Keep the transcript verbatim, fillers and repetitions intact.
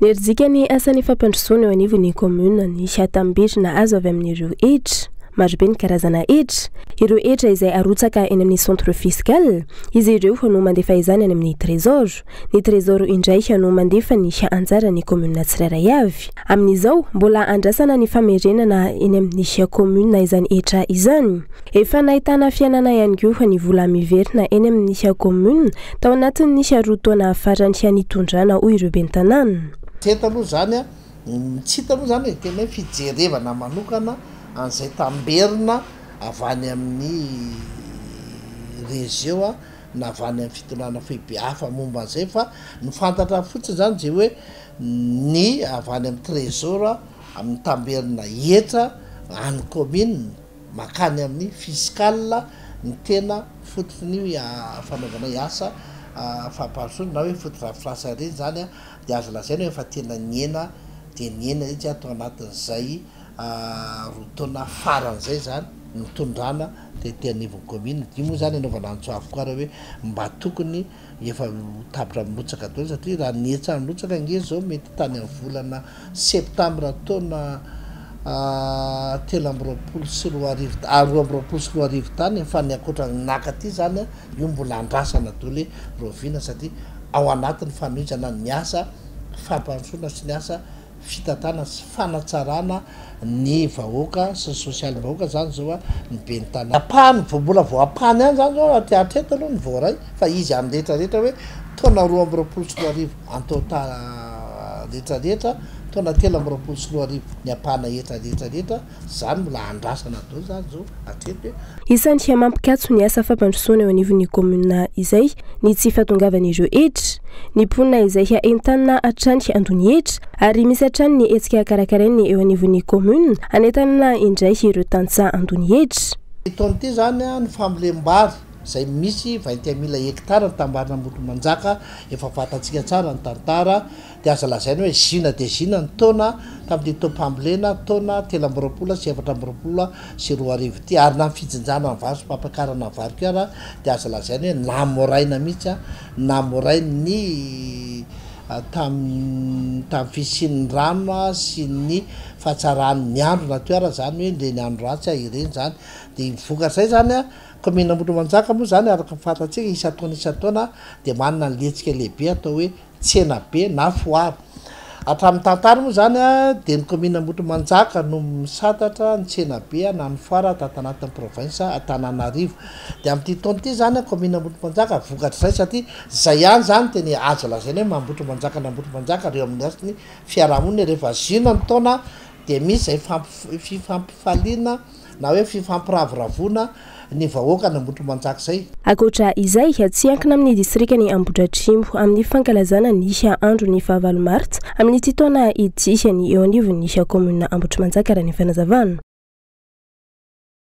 Nerijika ny asan'ny fampandrosoana eo anivon'ny commune ny tambirina azo avy amin'ireo hetra. Marobe ny karazana hetra. Ireo hetra izay arotsaka eny amin'ny centre fiscal, izy ireo no mandefa izany any amin'ny trésor. Ny trésor indray no mandefa ny anjaran'ny commune tsirairay avy. Amin'izao, mbola andrasana ny famerenana eny amin'ny commune izany hetra izany. Efa nahitana fiainana ihany koa ny vola miverina eny amin'ny commune tao anatin'ny roa taona farany nitondrana, hoy ireo ben'ny tanàna. Tsy hita aloha zany a, tsy hita aloha zany e, tena hoe fijerevana manokana an'izay tamberina avy any amin'ny région a na avy any amin'ny fitondrana foibe hafa momba an'izay, fa ny fantatra fotsiny zany zay hoe ny avy any amin'ny trésor a amin'ny tamberina hetra any commune makany amin'ny fiscal ny tena fototry ny fanaovana asa fampandrosoana na hoe fotodrafitrasa reny zany a, de azo lazaina hoe efa tena niena de niena izy atao anatin'izay roa taona faran'izay zany nitondrana de te anivon'ny commune. Io moa zany anaovana antso avo koa raha hoe mba tokony efa tapitra mirotsaka daholo, satria raha ny hetra mirotsaka nge zao mety tany amin'ny volana septambra taona telo amby roapolo sy roa arivo, roa amby roapolo sy roa arivo tany, fa ny ankoatra naka aty zany a io mbola andrasana daholo hoe roviana, satria ao anatin'ny fanohizana ny asa fampandrosoana sy ny asa fitantanana sy fanatsarana ny vahoaka sy ny sosialim-bahoaka zany zao a ny ben'ny tanàna. Ampahany vao mbola vao ampahany ihany zany zao aty hatreto aloha ny voaray, fa izy amin'ny rehetrarehetra hoe taona roa amby roapolo sy roa arivo antota rehetrarehetra, taona telo amby roapolo sy roa arivo ny ampahana hetra rehetrarehetra zany mbola andrasana daholo zany zao hatreto hoe. Isan'ny mampikatso ny asa fampandrosoana eo anivon'ny commune izay ny tsy fahatongavan'ireo hetra. Ny mponina izay entanina hatrany handoa ny hetra, ary misy hatrany ny hetsika karakarainy eo anivon'ny commune anentanana indray ireo tantsaha handoa ny hetra. Taona ity zany a ny fambolem-bary zay misy vingt et un mille hectare ny tambarina Ambohitrimanjaka, efa fantatsika tsara ny tantara, de azo lazaina hoe zina de zina ny taona tamin'ity taom-pambolena taona telo amby roapolo sy efatra amby roapolo sy roa arivo ity, ary na ny fijinjana ny vary sy fampiakarana ny vary koa ara de azo lazaina hoe namoraina mihitsy a, namorainy tam- tamin'ny fisian'ny rano sy ny fahatsaran'ny andro na teo ara zany hoe ireny andro ratsy ireny zany. De vokatrizay zany a commune Ambohitrimanjaka moa zany araka ny fantatsika isan-taona isan-taona de manana ny hetsika lehibe atao hoe tsena be na foara. Hatramin'ny tantara moa zany a de ny commune Ambohitrimanjaka no misantatra ny tsena be na ny foara tato anatin'ny province Antananarivo. De amin'ity taona ity zany a commune Ambohitrimanjaka vokatrizay, satria zay ihany zany tena azo lazaina hoe Ambohitrimanjaka na Ambohitrimanjaka reo amin'ny hasin'ny fiarahamonina rehefa zina ny taona de misy zay fampi- fifampifaliana na hoe fifampiraviraviana ny vahoaka ny Ambohitrimanjaka zay. Ankoatra izay, tsy ankina amin'ny distrikan'i Ambohidratrimo amin'ny fankalazana ny andro ny fahavalo martsa amin'ity taona ity ny eo anivon'ny commune Ambohitrimanjaka, raha ny fanazavana.